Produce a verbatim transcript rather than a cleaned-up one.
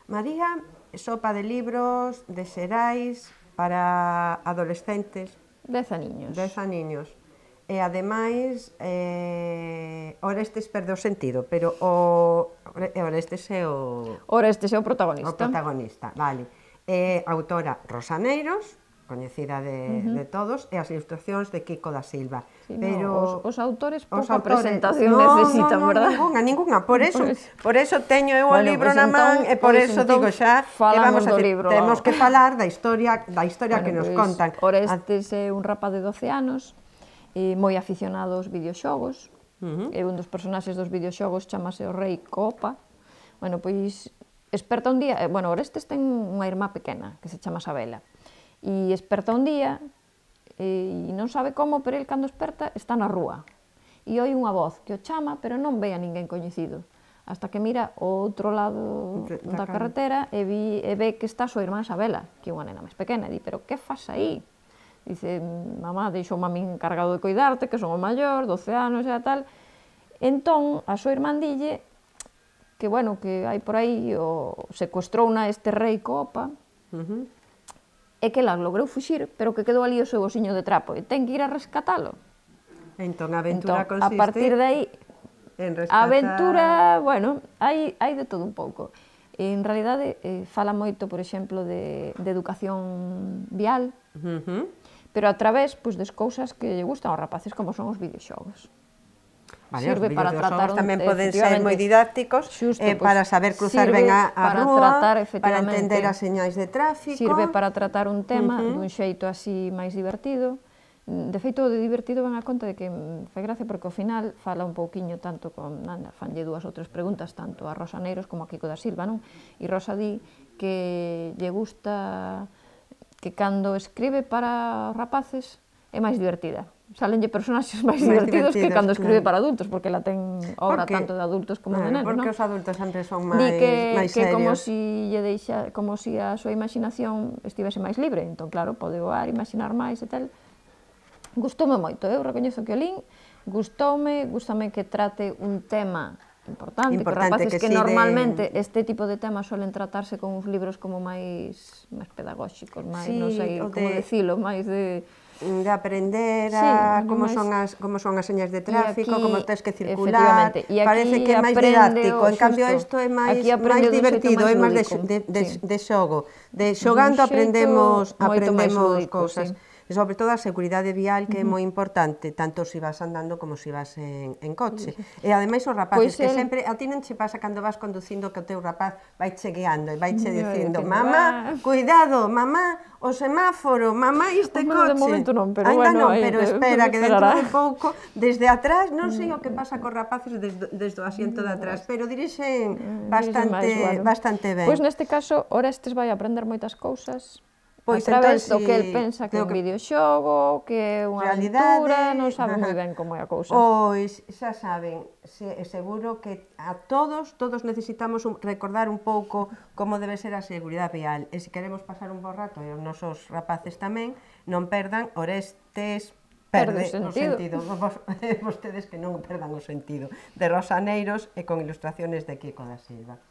María, sopa de libros, de xerais, para adolescentes. Dez aniños. Dez aniños. E, ademais, eh, Orestes perde o sentido, pero o Orestes é o... Orestes é o protagonista. O protagonista, vale. É autora Rosa Neiros, coñecida de, uh -huh. de todos, e as ilustracións de Quico da Silva. Sí, pero no, os, os autores pouca autores, presentación no, necesitan, no, no, verdad? Ninguna, ninguna. Por eso, por eso teño eu o bueno, libro pues na man, entón, e por pues eso entón digo xa que vamos a decir, libro, temos que falar da historia, da historia bueno, que nos pues, contan. Orestes é un rapaz de doce anos, e moi aficionado aos videoxogos, uh -huh. e un dos personaxes dos videoxogos chamase o Rei Copa. Bueno, pois, esperta un día, bueno, Orestes ten unha irmá pequena, que se chama Sabela, e esperta un día, e non sabe como, pero el cando esperta está na rúa, e oi unha voz que o chama, pero non ve a ninguén coñecido, hasta que mira ao outro lado da carretera e, vi, e ve que está a súa irmá Sabela, que é unha nena máis pequena, e di, pero que fas aí? Dice, mamá, deixoume a min encargado de cuidarte, que son o maior, doce anos e tal. Entón, a súa irmán dille que, bueno, que hai por aí o secuestrouna este Rei Copa, uh -huh. e que ela logrou fuxir, pero que quedou ali o seu osiño de trapo, e ten que ir a rescatalo. Entón, a aventura entón, consiste... A partir de aí, en rescatar... a aventura, bueno, hai, hai de todo un pouco. En realidade, eh, fala moito, por exemplo, de, de educación vial, uh -huh. pero a través pues, das cousas que lle gustan aos rapaces, como son os videoxogos. Vale, sirve para tratar un, tamén poden ser moi didácticos, xusto, eh, pues, para saber cruzar ben a, a para rúa, tratar, para entender as señais de tráfico. Sirve para tratar un tema uh -huh. dun xeito así máis divertido. De feito, de divertido ven a conta de que fai gracia porque ao final fala un pouquiño tanto con, anda, fanlle dúas ou tres preguntas tanto a Rosa Neiros como a Quico da Silva, non? E Rosa di que lle gusta que cando escribe para rapaces é máis divertida. Salenlle personaxes máis divertidos, divertidos que cando escribe claro. para adultos, porque ela ten obra tanto de adultos como claro, de nenos, non? Porque os adultos sempre son máis, Di que, máis que serios. como si lle deixa, como si a súa imaginación estivese máis libre, entón claro, pode voar, imaginar máis e tal. Gustoume moito, eu recoñezo que o lín, gustoume, gustame que trate un tema importante, importante que rapaces que, que sí, normalmente de... este tipo de temas suelen tratarse con uns libros como máis máis pedagóxicos, máis, sí, non sei como de... decilo, máis de... de aprender a sí, como, máis... son as, como son as señas de tráfico, aquí, como tens que circular, parece que é máis didáctico, en cambio isto é máis, máis divertido, é máis de, de, de, sí. de xogo, de xogando aprendemos, aprendemos cousas. Sí. E sobre todo a seguridade vial, que é moi importante, tanto se vas andando como se vas en, en coche. E ademais os rapaces, pues que el... sempre, a ti non che pasa cando vas conducindo que o teu rapaz vai che guiando e vai che dicindo, mamá, cuidado, mamá, o semáforo, mamá, este coche. De momento non, pero Ainda bueno, non, pero espera, que dentro de pouco, desde atrás, non sei o que pasa cos rapaces desde, desde o asiento de atrás, pero dirixen bastante, bastante ben. Pois neste caso, Orestes vai aprender moitas cousas, Pois a través do que el pensa que é un videoxogo, que é unha aventura, non sabe moi ben como é a cousa. Pois, xa saben, seguro que a todos, todos necesitamos recordar un pouco como debe ser a seguridade vial. E se queremos pasar un bo rato, e os nosos rapaces tamén, non perdan Orestes perde o sentido. Vostedes que non perdan o sentido. De Rosa Neiros e con ilustraciones de Quico da Silva.